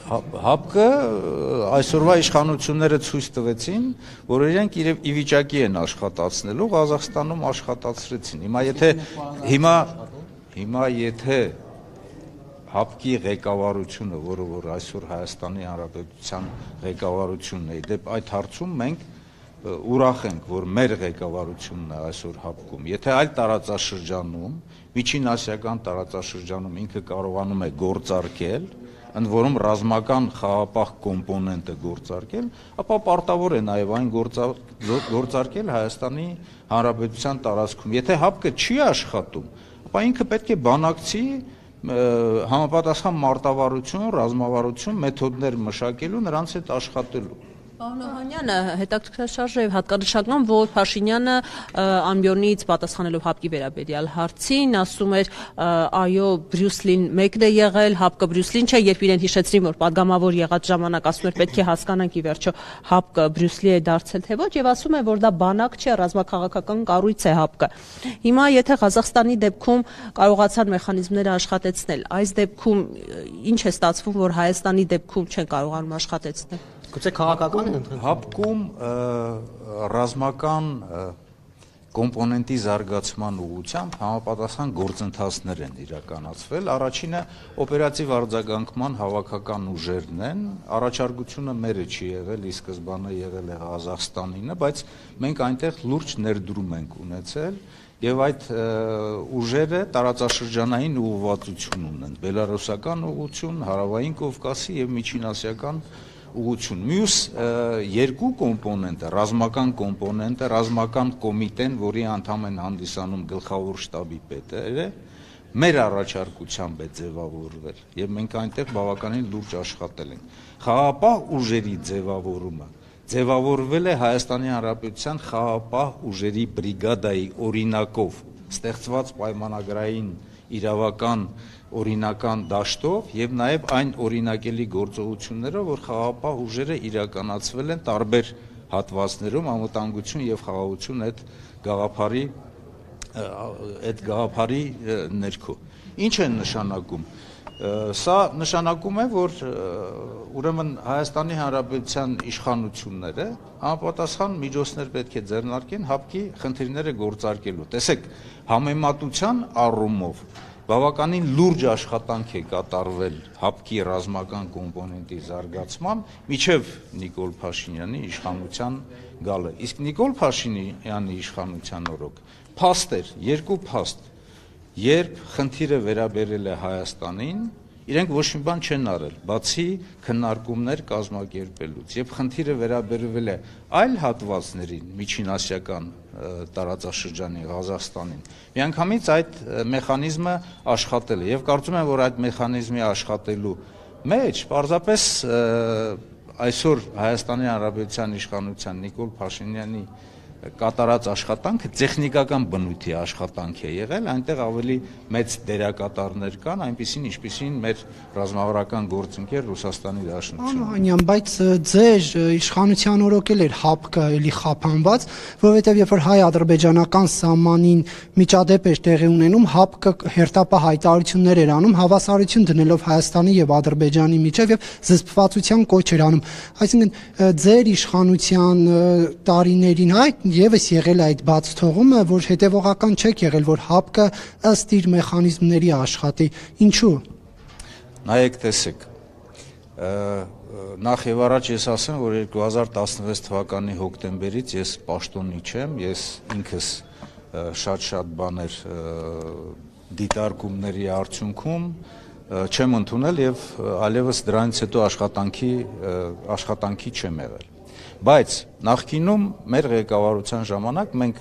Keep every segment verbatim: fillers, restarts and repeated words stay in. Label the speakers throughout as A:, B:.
A: Հապկը այսօրվա իշխանությունները ցույց տվեցին, որ իրենք իրև ի վիճակի են աշխատացնելու, Ղազախստանում աշխատացրեցին։ Հիմա եթե հիմա հիմա եթե հապկի ղեկավարությունը, որը որ այսօր Հայաստանի Հանրապետության ղեկավարությունն է, դեպ այդ հարցում մենք ուրախ ենք, որ մեր ղեկավարությունն է այսօր հապկում։ Եթե այլ տարածաշրջանում, Միջին Ասիական տարածաշրջանում ինքը կարողանում է գործարկել, ընդ որում ռազմական խաղապահ կոմպոնենտը գործարկել, ապա պարտավոր է նաև այն գործարկել Հայաստանի Հանրապետության տարածքում։ Եթե հապկը չի աշխատում, ապա ինքը պետք է բանակցի համապատասխան մարտավարություն, ռազմավարություն, մեթոդներ մշակելու, նրանց հետ աշխատելու։
B: Պարոն Օհանյանը հետաքրքրաշարժ է հատկանշական, որ Փաշինյանը ամբիոնից պատասխանելով հապկի վերաբերյալ հարցին ասում էր այո Բրյուսելին մեկն է եղել, հապկը Բրյուսելին չէ, երբ իրեն հիշեցրին, որ падգամավոր եղած ժամանակ ասում էր պետք է հասկանանք ի վերջո հապկը Բրյուսելի է դարձել թե ոչ, եւ ասում է, որ դա բանակ չէ, ռազմաքաղաքական կառույց է հապկը։ Հիմա եթե Ղազախստանի դեպքում կարողացան մեխանիզմները աշխատեցնել, այս դեպքում ինչ է ստացվում, որ Հայաստանի դեպքում չեն կարողանում աշխատեցնել։
C: Գուցե քաղաքական են ընդհանրապես
A: հապկում ռազմական կոմպոնենտի զարգացման ուղղությամբ համապատասխան գործընթացներ են իրականացվել։ Առաջինը օպերատիվ արձագանքման հավաքական ուժերն են, առաջարկությունը մերը չի եղել, ի սկզբանե եղել է Ղազախստանինը, բայց մենք այնտեղ լուրջ ներդրում ենք ունեցել եւ այդ ուժերը տարածաշրջանային ուղղվածություն ունեն, բելարուսական ուղղություն, հարավային Կովկասի եւ միջինասիական ուղղություն։ Մյուս երկու կոմպոնենտը, ռազմական կոմպոնենտը, ռազմական կոմիտեն, որի անդամ են հանդիսանում գլխավոր շտաբի պետերը, մեր առաջարկությամբ է ձևավորվել եւ մենք այնտեղ բավականին լուրջ աշխատել ենք։ Խաղապահ ուժերի ձևավորումը ձևավորվել է Հայաստանի Հանրապետության խաղապահ ուժերի բրիգադայի օրինակով, ստեղծված պայմանագրային իրավական օրինական դաշտով եւ նաեւ այն օրինակելի գործողություններով, որ խաղապահ ուժերը իրականացվել են տարբեր հատվածներում անվտանգություն եւ խաղաղություն այդ գաղափարի այդ գաղափարի ներքո։ Ինչ են նշանակում։ Սա նշանակում է, որ ուրեմն Հայաստանի Հանրապետության իշխանությունները համապատասխան միջոցներ պետք է ձեռնարկեն հապկի խնդիրները գործարկելու։ Տեսեք, համեմատության առումով բավականին լուրջ աշխատանք է կատարվել հապկի ռազմական կոմպոնենտի զարգացման միջև Նիկոլ Փաշինյանի իշխանության գալը։ Իսկ Նիկոլ Փաշինյանի իշխանության օրոք փաստ էր, երկու փաստ, երբ խնդիրը վերաբերել է Հայաստանին, իրենք ոչ մի բան չեն արել, բացի քննարկումներ կազմակերպելուց, եւ խնդիրը վերաբերվել է այլ հատվածներին, միջինասիական տարածաշրջանի Ղազախստանին։ Միանգամից այդ մեխանիզմը աշխատել է եւ կարծում եմ, որ այդ մեխանիզմի աշխատելու մեջ պարզապես այսօր Հայաստանի Հանրապետության իշխանության Նիկոլ Փաշինյանի կատարած աշխատանքը տեխնիկական բնույթի աշխատանք է եղել, այնտեղ ավելի մեծ դերակատարներ կան, այնպիսին, ինչպիսին մեր ռազմավարական գործընկեր Ռուսաստանի Դաշնությունը։
D: Անհանյան, բայց ձեր իշխանության օրոք էլ էր հապկը էլի խափանված, որովհետև երբ որ հայ-ադրբեջանական սահմանին միջադեպ էր տեղի ունենում, հապկը հերթապահ հայտարարություններ էր անում, հավասարություն դնելով Հայաստանի եւ Ադրբեջանի միջև եւ զսպվածության կոչ էր անում։ Այսինքն ձեր իշխանության տարիներին այդ եւս եղել այդ բաց թողումը, որ հետևողական չեք եղել, որ հապկը ըստ իր մեխանիզմների աշխատի։ Ինչու։
A: Նայեք, տեսեք, նախ եւ առաջ ես ասեմ, որ երկու հազար տասնվեց թվականի հոկտեմբերից ես պաշտոնի չեմ, ես ինքս շատ-շատ բաներ դիտարկումների արդյունքում չեմ ընդունել եւ այլևս դրանից հետո աշխատանքի աշխատանքի չեմ եղել։ Բայց նախկինում մեր ղեկավարության ժամանակ մենք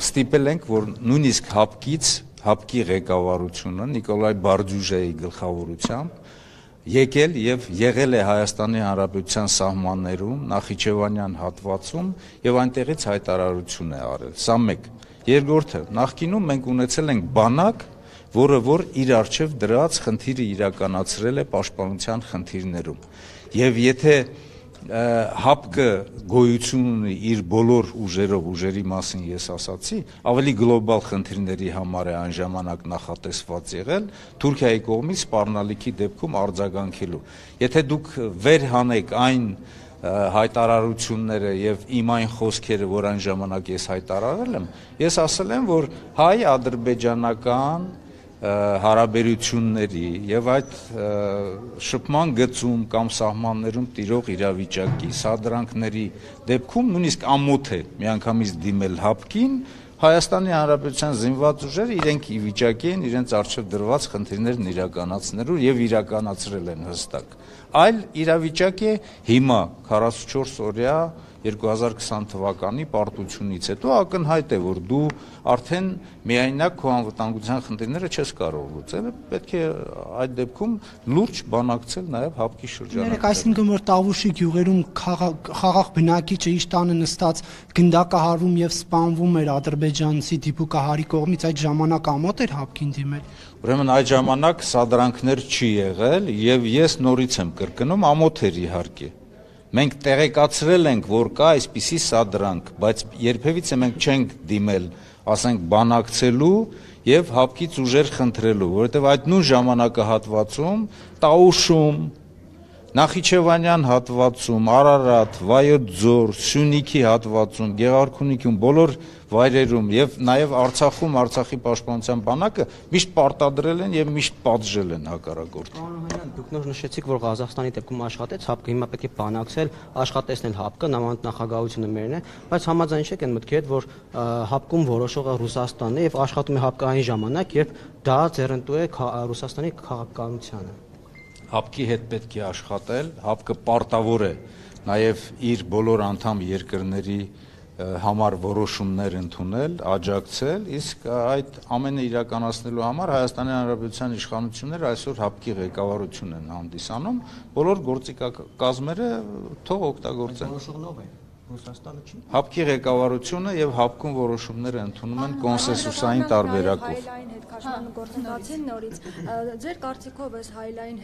A: ստիպել ենք, որ նույնիսկ հապկից, հապկի ղեկավարությունը Նիկոլայ Բարդյուժեի գլխավորությամբ եկել եւ եղել է Հայաստանի Հանրապետության սահմաններում, Նախիջևանյան հատվածում եւ այնտեղից հայտարարություն է արել։ Սա մեկ։ Երկրորդը, նախկինում մենք ունեցել ենք բանակ, որը որ իր արժեվ դրած խնդիրը իրականացրել է պաշտպանության խնդիրներում։ Եվ եթե հապկը գոյություն ունի իր բոլոր ուժերով, ուժերի մասին ես ասացի, ավելի գլոբալ խնդիրների համար է այն ժամանակ նախատեսված եղել Թուրքիայի կողմից սպառնալիքի դեպքում արձագանքելու։ Եթե դուք վեր հանեք այն հայտարարությունները եւ իմ այն խոսքերը, որ այն ժամանակ ես հայտարարել եմ, ես ասել եմ, որ հայ-ադրբեջանական հարաբերությունների եւ այդ շփման գծում կամ սահմաններում տիրող իրավիճակի սադրանքների դեպքում նույնիսկ ամոթ է միանգամից դիմել հապկին, Հայաստանի Հանրապետության զինված ուժերը իրենք ի վիճակի են իրենց արժեվ դրված խնդիրներն իրականացնելու եւ իրականացրել են հստակ։ Այլ իրավիճակ է հիմա քառասունչորս օրյա երկու հազար քսան թվականի պարտությունից հետո ակնհայտ է, որ դու արդեն միայնակ քո անվտանգության խնդիրները չես կարող լուծել, պետք է այդ դեպքում լուրջ բանակցել նաև հապկի շրջանում։
D: Ներեք, այսինքն որ Տավուշի գյուղերում խաղաղ բնակիչը իր տանը նստած գնդակահարվում եւ սպանվում էր ադրբեջանցի դիպուկահարի կողմից, այդ ժամանակ ամոթ էր հապկին դիմել։
A: Ուրեմն այդ ժամանակ սադրանքներ չի եղել եւ ես նորից եմ կրկնում, ամոթ էր իհարկե։ Մենք տեղեկացրել ենք, որ կա այսպիսի սադրանք, բայց երբևիցե մենք չենք դիմել, ասենք, բանակցելու եւ հապկից ուժեր խնդրելու, որովհետեւ այդ նույն ժամանակահատվածում Տաուշում, Նախիջևանյան հատվածում, Արարատ, Վայոց ձոր, Սյունիքի հատվածում, Գեղարքունիքում, բոլոր վայրերում եւ նաեւ Արցախում Արցախի պաշտպանության բանակը միշտ պարտադրել են եւ միշտ պատժել են հակառակորդին։
C: Պարոն դուք նոր նշեցիք, որ Ղազախստանի դեպքում աշխատեց հապկը, հիմա պետք է բանակցել, աշխատեցնել հապկը, նամանդ նախագահությունը մերն է, բայց համաձայն չեք այն մտքի հետ, որ հապկում որոշողը Ռուսաստանն է եւ աշխատում է հապկը այն ժամանակ, երբ դա ձեռնտու է Ռուսաստանի քաղաքականությանը։
A: Հապկի հետ պետք է աշխատել, հապկը պարտավոր է նաև իր բոլոր անդամ երկրների համար որոշումներ ընդունել, աջակցել, իսկ այդ ամենը իրականացնելու համար Հայաստանի Հանրապետության իշխանությունները այսօր հապկի ղեկավարություն են հանդիսանում, բոլոր գործիքակազմերը թող օգտագործեն։
C: Որոշողն ով է։ Ռուսաստանը չի։
A: Հապկի ղեկավարությունը եւ հապկում որոշումները ընդունում են կոնսենսուսային տարբերակով։
E: Հայլային հետ քաշման գործընթացին նորից ձեր կարծիքով էս հայլային